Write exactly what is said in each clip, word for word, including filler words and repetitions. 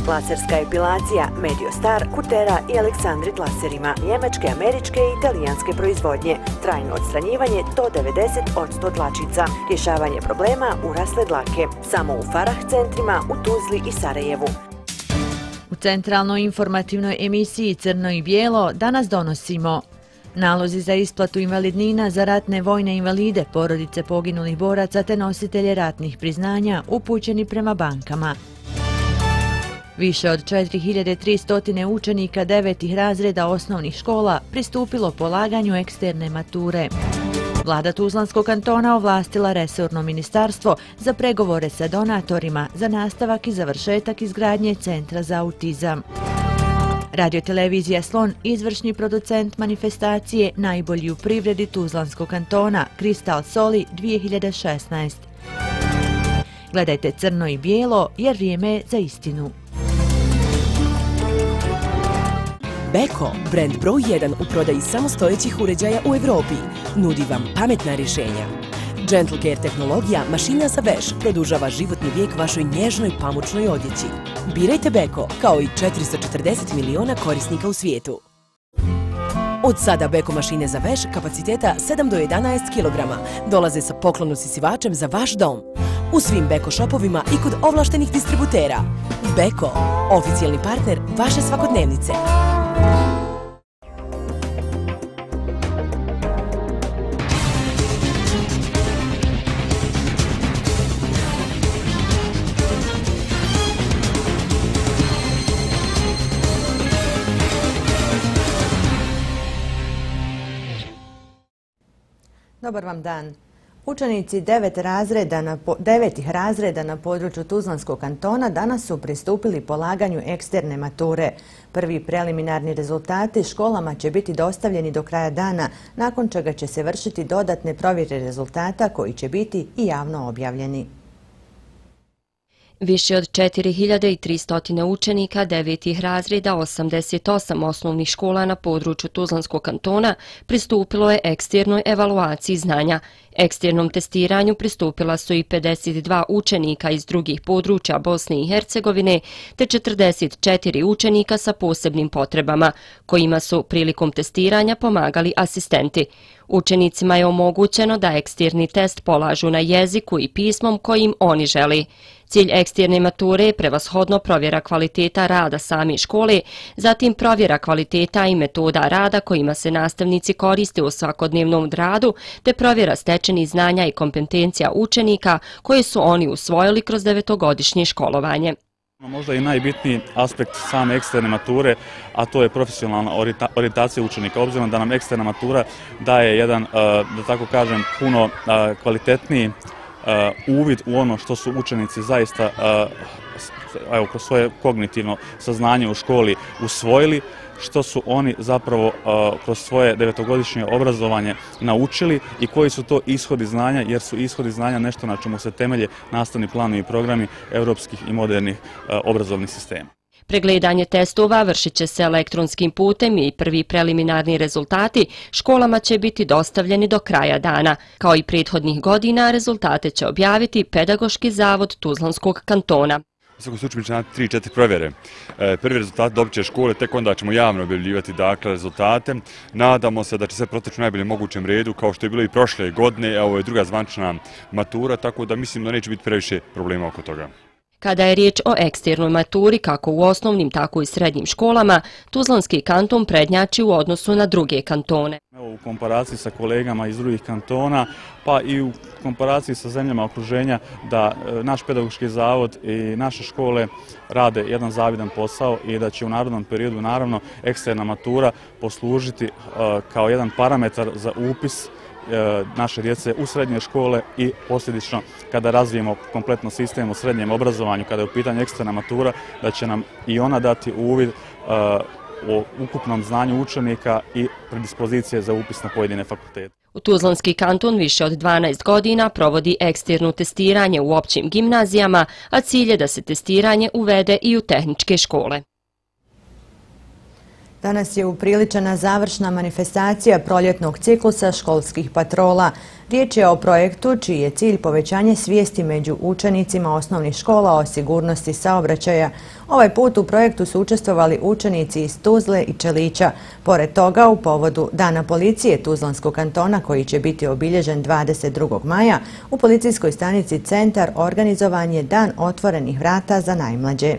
laserska epilacija Mediostar, Kutera i Aleksandrit laserima, njemačke, američke i italijanske proizvodnje, trajno odstranjivanje do devedeset posto dlačica, rješavanje problema urasle dlake, samo u Farah centrima u Tuzli i Sarajevu. U centralnoj informativnoj emisiji Crno i bijelo danas donosimo nalozi za isplatu invalidnina za ratne vojne invalide, porodice poginulih boraca te nositelje ratnih priznanja upućeni prema bankama. Više od četiri hiljade tristo učenika devetih razreda osnovnih škola pristupilo polaganju eksterne mature. Vlada Tuzlanskog kantona ovlastila resorno ministarstvo za pregovore sa donatorima za nastavak i završetak izgradnje Centra za autizam. Radiotelevizija Slon, izvršni producent manifestacije Najbolji u privredi Tuzlanskog kantona, Kristal Soli dvije hiljade šesnaeste. Gledajte Crno i bijelo jer vrijeme je za istinu. Beko, brend broj jedan u prodaji samostojećih uređaja u Evropi, nudi vam pametna rješenja. Gentle Care tehnologija, mašina za veš, produžava životni vijek vašoj nježnoj pamučnoj odjeći. Birajte Beko, kao i četiristo četrdeset miliona korisnika u svijetu. Od sada Beko mašine za veš kapaciteta sedam do jedanaest kilograma dolaze sa poklon usisivačem za vaš dom. U svim Beko šopovima i kod ovlaštenih distributera. Beko, oficijalni partner vaše svakodnevnice. Dobar vam dan. Učenici devet razreda na po, devetih razreda na području Tuzlanskog kantona danas su pristupili polaganju eksterne mature. Prvi preliminarni rezultati školama će biti dostavljeni do kraja dana, nakon čega će se vršiti dodatne provjere rezultata koji će biti i javno objavljeni. Više od četiri hiljade tristo učenika devetih razreda osamdeset osam osnovnih škola na području Tuzlanskog kantona pristupilo je eksternoj evaluaciji znanja. Eksternom testiranju pristupila su i pedeset dva učenika iz drugih područja Bosne i Hercegovine te četrdeset četiri učenika sa posebnim potrebama, kojima su prilikom testiranja pomagali asistenti. Učenicima je omogućeno da eksterni test polažu na jeziku i pismom kojim oni želi. Cilj eksterne mature je prevashodno provjera kvaliteta rada same škole, zatim provjera kvaliteta i metoda rada kojima se nastavnici koriste u svakodnevnom radu, te provjera stečenih znanja i kompetencija učenika koje su oni usvojili kroz devetogodišnje školovanje. Možda i najbitniji aspekt same eksterne mature, a to je profesionalna orijentacija učenika. Obzirom da nam eksterna matura daje jedan, da tako kažem, puno kvalitetniji uvid u ono što su učenici zaista evo, kroz svoje kognitivno saznanje u školi usvojili, što su oni zapravo uh, kroz svoje devetogodišnje obrazovanje naučili i koji su to ishodi znanja, jer su ishodi znanja nešto na čemu se temelje nastavni planovi i programi europskih i modernih uh, obrazovnih sistema. Pregledanje testova vršit će se elektronskim putem i prvi preliminarni rezultati školama će biti dostavljeni do kraja dana. Kao i prethodnih godina, rezultate će objaviti Pedagoški zavod Tuzlanskog kantona. U svakom slučaju će na tri četiri provjere. Prvi rezultat dobit će škole, tek onda ćemo javno objavljivati dakle, rezultate. Nadamo se da će sve proteći u najboljem mogućem redu, kao što je bilo i prošle godine, a ovo je druga zvanična matura, tako da mislim da neće biti previše problema oko toga. Kada je riječ o eksternoj maturi, kako u osnovnim, tako i srednjim školama, Tuzlanski kanton prednjači u odnosu na druge kantone. U komparaciji sa kolegama iz drugih kantona, pa i u komparaciji sa zemljama okruženja, da naš pedagoški zavod i naše škole rade jedan zavidan posao i da će u narednom periodu, naravno, eksterna matura poslužiti kao jedan parametar za upis naše djece u srednje škole i posljedično kada razvijemo kompletno sistem u srednjem obrazovanju, kada je u pitanju eksterna matura, da će nam i ona dati uvid o ukupnom znanju učenika i predispozicije za upis na pojedine fakultete. U Tuzlanski kanton više od dvanaest godina provodi eksterno testiranje u općim gimnazijama, a cilj je da se testiranje uvede i u tehničke škole. Danas je upriličena završna manifestacija proljetnog ciklusa školskih patrola. Riječ je o projektu čiji je cilj povećanje svijesti među učenicima osnovnih škola o sigurnosti saobraćaja. Ovaj put u projektu su učestvovali učenici iz Tuzle i Čelića. Pored toga, u povodu Dana policije Tuzlanskog kantona, koji će biti obilježen dvadeset drugog maja, u policijskoj stanici Centar organizovan je Dan otvorenih vrata za najmlađe.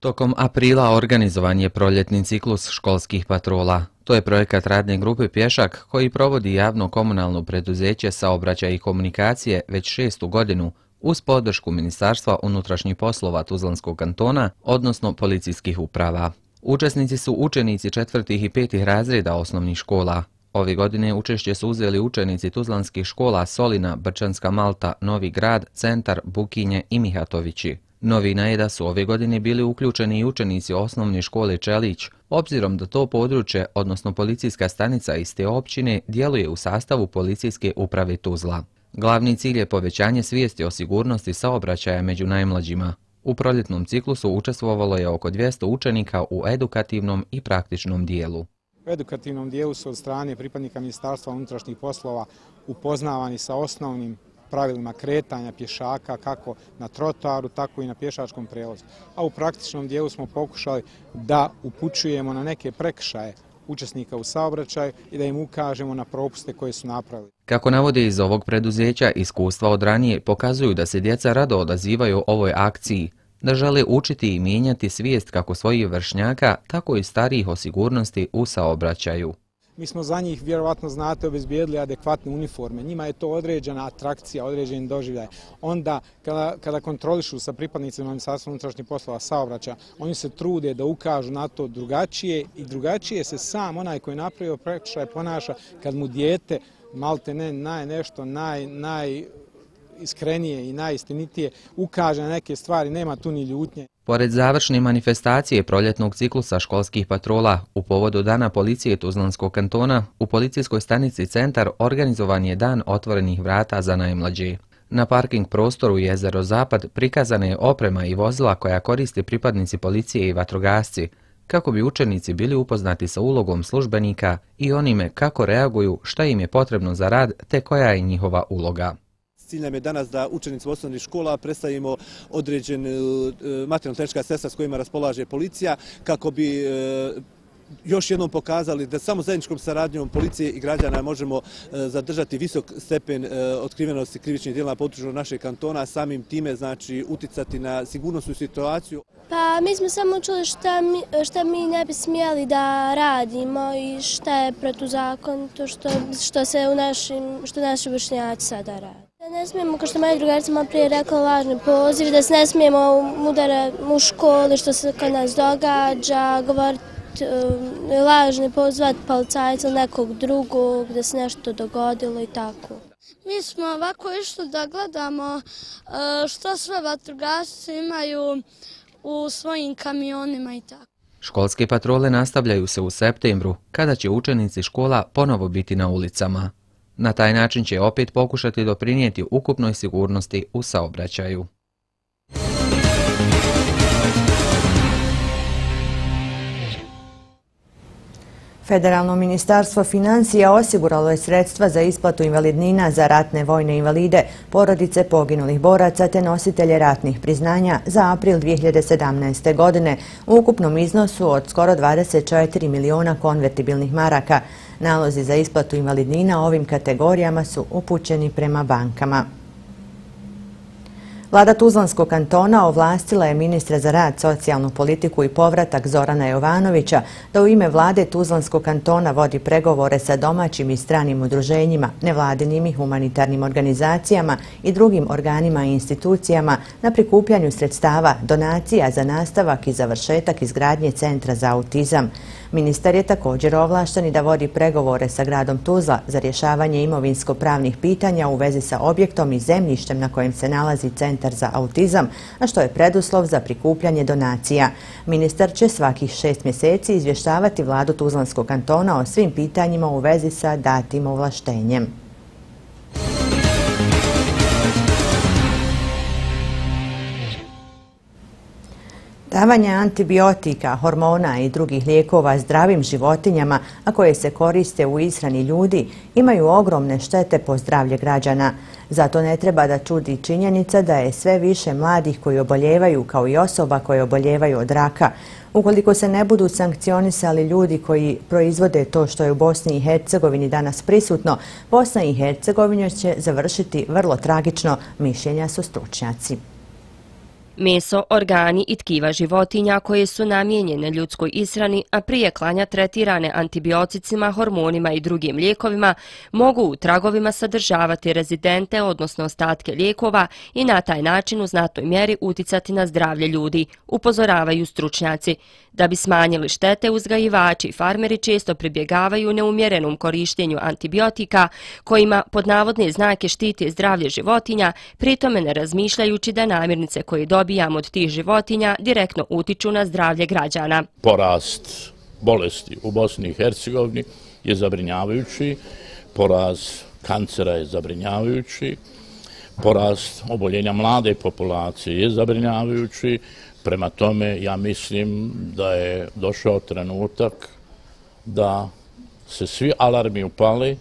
Tokom aprila organizovan je proljetni ciklus školskih patrola. To je projekat radne grupe Pješak koji provodi javno komunalno preduzeće Saobraćaj i komunikacije već šestu godinu uz podršku Ministarstva unutrašnjih poslova Tuzlanskog kantona, odnosno policijskih uprava. Učesnici su učenici četvrtih i petih razreda osnovnih škola. Ove godine učešće su uzeli učenici tuzlanskih škola Solina, Brčanska Malta, Novi Grad, Centar, Bukinje i Mihatovići. Novina je da su ove godine bili uključeni i učenici osnovne škole Čelić, obzirom da to područje, odnosno policijska stanica iz te općine, djeluje u sastavu policijske uprave Tuzla. Glavni cilj je povećanje svijesti o sigurnosti saobraćaja među najmlađima. U proljetnom ciklusu učestvovalo je oko dvjesto učenika u edukativnom i praktičnom dijelu. U edukativnom dijelu su od strane pripadnika Ministarstva unutrašnjih poslova upoznavani sa osnovnim pravilima kretanja pješaka kako na trotoaru, tako i na pješačkom prijevozu. A u praktičnom dijelu smo pokušali da upućujemo na neke prekršaje učesnika u saobraćaju i da im ukažemo na propuste koje su napravili. Kako navode iz ovog preduzeća, iskustva od ranije pokazuju da se djeca rado odazivaju ovoj akciji, da žele učiti i mijenjati svijest kako svojih vršnjaka, tako i starijih o sigurnosti u saobraćaju. Mi smo za njih, vjerovatno znate, obezbijedili adekvatne uniforme. Njima je to određena atrakcija, određen doživljaj. Onda, kada, kada kontrolišu sa pripadnicima Ministarstva unutrašnjih poslova saobraćaja, oni se trude da ukažu na to drugačije i drugačije se sam onaj koji je napravio prekršaj ponaša kad mu dijete malte ne naj nešto naj, naj iskrenije i najistinitije ukaže na neke stvari, nema tu ni ljutnje. Pored završne manifestacije proljetnog ciklusa školskih patrola, u povodu Dana policije Tuzlanskog kantona, u policijskoj stanici Centar organizovan je Dan otvorenih vrata za najmlađe. Na parking prostoru Jezero Zapad prikazana je oprema i vozila koja koriste pripadnici policije i vatrogasci, kako bi učenici bili upoznati sa ulogom službenika i onime kako reaguju, šta im je potrebno za rad te koja je njihova uloga. Cilj nam je danas da učenicima osnovnih škola predstavimo određen materijalno-tehnička sredstva s kojima raspolaže policija kako bi još jednom pokazali da samo zajedničkom saradnjom policije i građana možemo zadržati visok stepen otkrivenosti krivičnih djela na području našeg kantona, samim time znači uticati na sigurnosnu situaciju. Pa mi smo samo čuli šta mi, šta mi ne bi smjeli da radimo i šta je protuzakonito što, što se u našim, što naši vršnjaci sada rade. Da ne smijemo, kao što moja drugarica malo prije rekla, lažni poziv, da se ne smijemo udarati u školi što se kod nas događa, govoriti lažni pozvati policajca ili nekog drugog, da se nešto dogodilo i tako. Mi smo ovako išli da gledamo što sve vatrogasci imaju u svojim kamionima i tako. Školske patrole nastavljaju se u septembru, kada će učenici škola ponovo biti na ulicama. Na taj način će opet pokušati doprinijeti ukupnoj sigurnosti u saobraćaju. Federalno ministarstvo financija osiguralo je sredstva za isplatu invalidnina za ratne vojne invalide, porodice poginulih boraca te nositelje ratnih priznanja za april dvije hiljade sedamnaeste. godine u ukupnom iznosu od skoro dvadeset četiri miliona konvertibilnih maraka. Nalozi za isplatu invalidnina ovim kategorijama su upućeni prema bankama. Vlada Tuzlanskog kantona ovlastila je ministra za rad, socijalnu politiku i povratak Zorana Jovanovića da u ime vlade Tuzlanskog kantona vodi pregovore sa domaćim i stranim udruženjima, nevladinim i humanitarnim organizacijama i drugim organima i institucijama na prikupljanju sredstava, donacija za nastavak i završetak izgradnje Centra za autizam. Ministar je također ovlašten i da vodi pregovore sa gradom Tuzla za rješavanje imovinsko-pravnih pitanja u vezi sa objektom i zemljištem na kojem se nalazi Centar za autizam, a što je preduslov za prikupljanje donacija. Ministar će svakih šest mjeseci izvještavati vladu Tuzlanskog kantona o svim pitanjima u vezi sa datim ovlaštenjem. Davanje antibiotika, hormona i drugih lijekova zdravim životinjama, a koje se koriste u ishrani ljudi, imaju ogromne štete po zdravlje građana. Zato ne treba da čudi činjenica da je sve više mladih koji oboljevaju, kao i osoba koje oboljevaju od raka. Ukoliko se ne budu sankcionisali ljudi koji proizvode to što je u Bosni i Hercegovini danas prisutno, Bosna i Hercegovina će završiti vrlo tragično, mišljenja su stručnjaci. Meso, organi i tkiva životinja koje su namijenjene ljudskoj ishrani, a prije klanja tretirane antibioticima, hormonima i drugim lijekovima, mogu u tragovima sadržavati rezidente, odnosno ostatke lijekova i na taj način u znatnoj mjeri uticati na zdravlje ljudi, upozoravaju stručnjaci. Da bi smanjili štete, uzgajivači i farmeri često pribjegavaju neumjerenom korištenju antibiotika, kojima pod navodne znake štite zdravlje životinja, pritome ne razmišljajući da namirnice koje dobijamo od tih životinja direktno utiču na zdravlje građana. Porast bolesti u Bosni i Hercegovini je zabrinjavajući, porast kancera je zabrinjavajući, porast oboljenja mlade populacije je zabrinjavajući. Prema tome, ja mislim da je došao trenutak da se svi alarmi upale.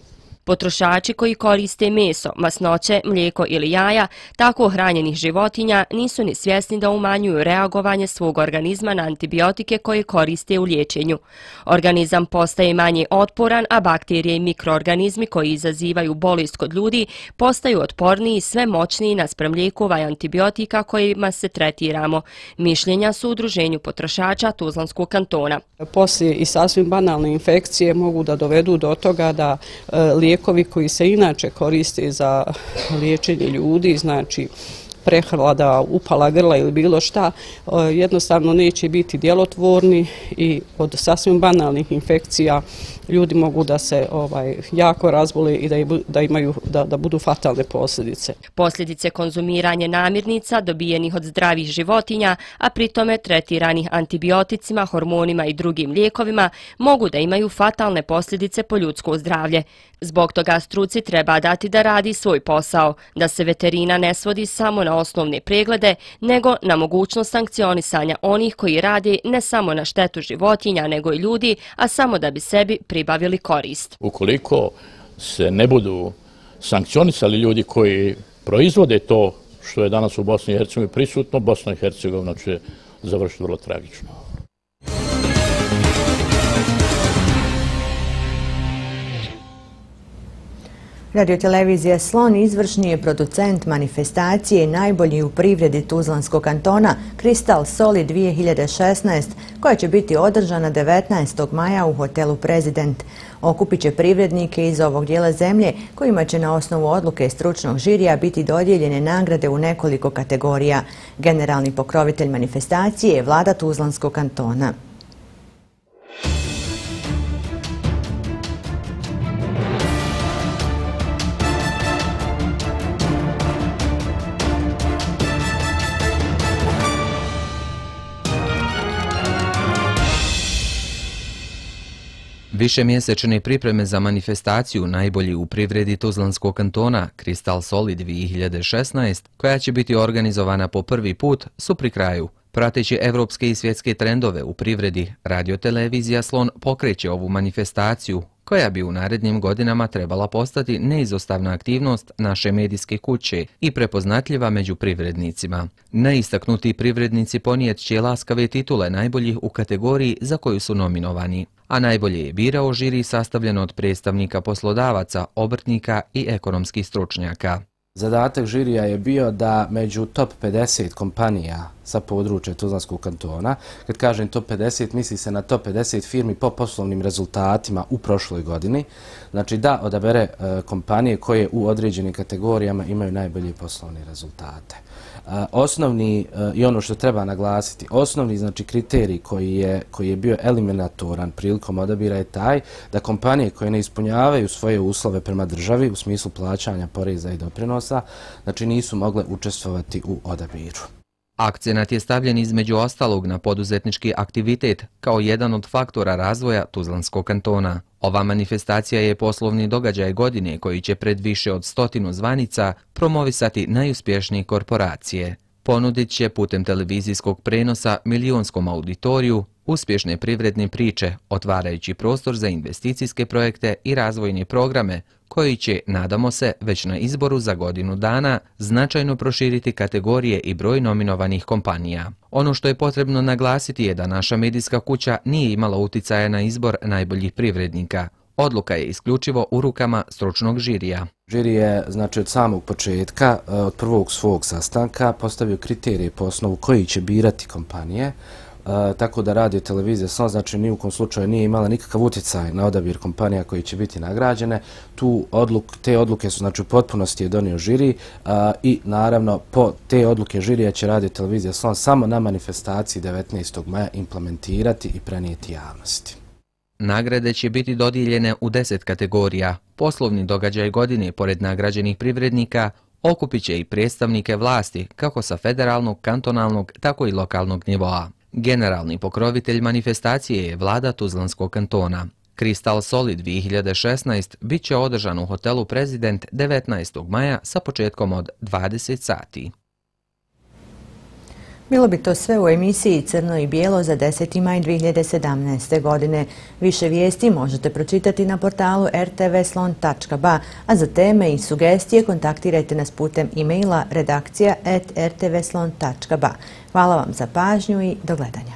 Potrošači koji koriste meso, masnoće, mlijeko ili jaja tako hranjenih životinja nisu ni svjesni da umanjuju reagovanje svog organizma na antibiotike koje koriste u liječenju. Organizam postaje manje otporan, a bakterije i mikroorganizmi koji izazivaju bolest kod ljudi postaju otporniji i sve moćniji naspram lijekova i antibiotika kojima se tretiramo. Mišljenja su u Udruženju potrošača Tuzlanskog kantona. Poslije i sasvim banalne infekcije mogu da dovedu do toga da lijekovi koji se inače koriste za liječenje ljudi, znači prehlada, upala grla ili bilo šta, jednostavno neće biti djelotvorni i od sasvim banalnih infekcija ljudi mogu da se ovaj, jako razbole i da, da imaju da, da budu fatalne posljedice. Posljedice konzumiranja namirnica dobijenih od zdravih životinja, a pritome tretiranih antibioticima, hormonima i drugim lijekovima, mogu da imaju fatalne posljedice po ljudsko zdravlje. Zbog toga struci treba dati da radi svoj posao, da se veterina ne svodi samo na osnovne preglede, nego na mogućnost sankcionisanja onih koji rade ne samo na štetu životinja, nego i ljudi, a samo da bi sebi pribavili korist. Ukoliko se ne budu sankcionisali ljudi koji proizvode to što je danas u Bosni i Hercegovini prisutno, Bosna i Hercegovina će završiti vrlo tragično. Radiotelevizija Slon izvršni je producent manifestacije najbolji u privredi Tuzlanskog kantona Kristal Soli dvije hiljade šesnaest, koja će biti održana devetnaestog maja u hotelu Prezident. Okupit će privrednike iz ovog dijela zemlje kojima će na osnovu odluke stručnog žirija biti dodijeljene nagrade u nekoliko kategorija. Generalni pokrovitelj manifestacije je vlada Tuzlanskog kantona. Višemjesečne pripreme za manifestaciju najbolji u privredi Tuzlanskog kantona Kristal Soli dvije hiljade šesnaest, koja će biti organizovana po prvi put, su pri kraju. Prateći evropske i svjetske trendove u privredi, radiotelevizija Slon pokreće ovu manifestaciju, koja bi u narednim godinama trebala postati neizostavna aktivnost naše medijske kuće i prepoznatljiva među privrednicima. Neistaknuti privrednici ponijet će laskave titule najboljih u kategoriji za koju su nominovani, a najbolje je birao žiri sastavljeno od predstavnika poslodavaca, obrtnika i ekonomskih stručnjaka. Zadatak žirija je bio da među top pedeset kompanija sa područja Tuzlanskog kantona, kad kažem top pedeset, misli se na top pedeset firmi po poslovnim rezultatima u prošloj godini, znači da odabere e, kompanije koje u određenim kategorijama imaju najbolje poslovne rezultate. E, osnovni, e, i ono što treba naglasiti, osnovni znači kriterij koji je, koji je bio eliminatoran prilikom odabira je taj da kompanije koje ne ispunjavaju svoje uslove prema državi u smislu plaćanja poreza i doprinosa, znači nisu mogle učestvovati u odabiru. Akcenat je stavljen između ostalog na poduzetnički aktivitet kao jedan od faktora razvoja Tuzlanskog kantona. Ova manifestacija je poslovni događaj godine koji će pred više od stotinu zvanica promovisati najuspješnije korporacije. Ponudit će putem televizijskog prenosa milionskom auditoriju uspješne privredne priče, otvarajući prostor za investicijske projekte i razvojne programe, koji će, nadamo se, već na izboru za godinu dana značajno proširiti kategorije i broj nominovanih kompanija. Ono što je potrebno naglasiti je da naša medijska kuća nije imala uticaja na izbor najboljih privrednika. Odluka je isključivo u rukama stručnog žirija. Žiri je, znači, od samog početka, od prvog svog sastanka, postavio kriterije po osnovu koji će birati kompanije, tako da Radio Televizija Slon, znači, ni u kom slučaju nije imala nikakav utjecaj na odabir kompanija koji će biti nagrađene. Tu odluk, te odluke su, znači, u potpunosti je donio žiri i, naravno, po te odluke žirija će Radio Televizija Slon samo na manifestaciji devetnaestog maja implementirati i prenijeti javnosti. Nagrade će biti dodijeljene u deset kategorija. Poslovni događaj godine, pored nagrađenih privrednika, okupit će i predstavnike vlasti, kako sa federalnog, kantonalnog, tako i lokalnog nivoa. Generalni pokrovitelj manifestacije je vlada Tuzlanskog kantona. Kristal Solid dvije hiljade šesnaest bit će održan u hotelu Prezident devetnaestog maja sa početkom od dvadeset sati. Bilo bi to sve u emisiji Crno i bijelo za deseti maj dvije hiljade sedamnaeste. godine. Više vijesti možete pročitati na portalu r t v slon tačka b a, a za teme i sugestije kontaktirajte nas putem e-maila redakcija at r t v slon tačka b a. Hvala vam za pažnju i do gledanja.